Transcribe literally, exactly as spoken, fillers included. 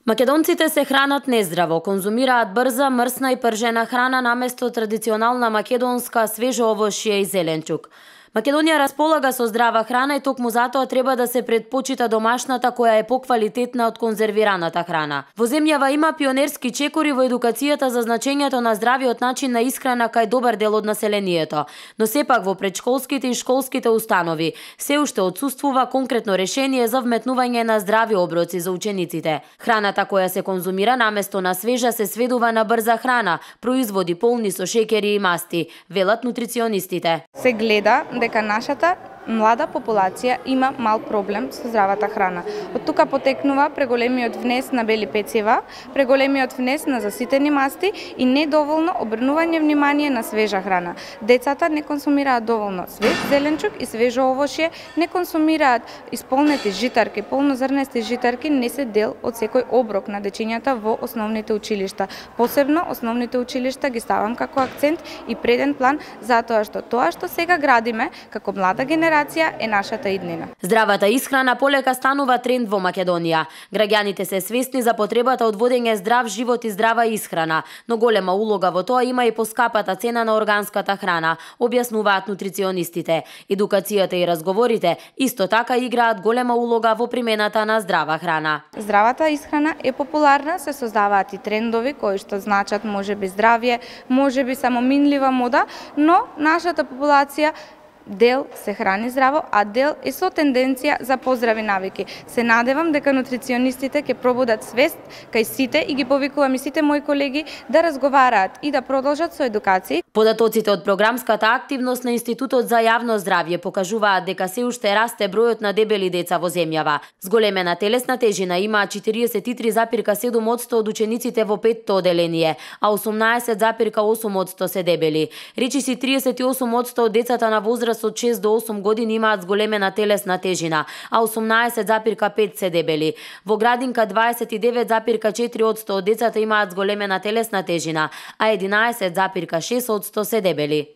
Македонците се хранат нездраво, конзумираат брза, мрсна и пржена храна наместо традиционална македонска свежо овошје и зеленчук. Македонија располага со здрава храна и токму затоа треба да се предпочита домашната која е поквалитетна од конзервираната храна. Во земјава има пионерски чекори во едукацијата за значењето на здравиот начин на исхрана кај добар дел од населението, но сепак во предшколските и школските установи се уште отсуствува конкретно решение за вметнување на здрави оброци за учениците. Храната која се конзумира наместо на свежа се сведува на брза храна, производи полни со шеќери и масти, велат нутриционистите. Се гледа дека нашата млада популација има мал проблем со здравата храна. Од тука потекнува преголемиот внес на бели пецива, преголемиот внес на заситени масти и недоволно обрнување внимание на свежа храна. Децата не консумираат доволно свеж зеленчук и свежо овошје, не консумираат исполнети житарки, полнозрнести житарки не се дел од секој оброк на дечињата во основните училишта. Посебно основните училишта ги ставам како акцент и преден план затоа што тоа што сега градиме како млада генерација е нашата иднина. Здравата исхрана полека станува тренд во Македонија. Граѓаните се свесни за потребата од водење здрав живот и здрава исхрана, но голема улога во тоа има и поскапата цена на органската храна, објаснуваат нутриционистите. Едукацијата и разговорите исто така играат голема улога во примената на здрава храна. Здравата исхрана е популарна, се создаваат и трендови кои што значат можеби здравје, можеби само минлива мода, но нашата популација дел се храни здраво, а дел е со тенденција за поздрави навики. Се надевам дека нутриционистите ќе пробудат свест кај сите и ги повикувам и сите мои колеги да разговараат и да продолжат со едукација. Податоците од програмската активност на Институтот за јавно здравје покажуваат дека се уште расте бројот на дебели деца во земјава. Зголемена телесна тежина имаат четириесет и три запирка седум одсто од учениците во петто оделение, а осумнаесет запирка осум одсто се дебели. Речиси триесет и осум одсто од децата на возраст од шест до осум години имаат зголемена телесна тежина, а осумнаесет запирка пет се дебели. Во градинка дваесет и девет запирка четири одсто од децата имаат зголемена телесна тежина, а единаесет запирка шест одсто се дебели.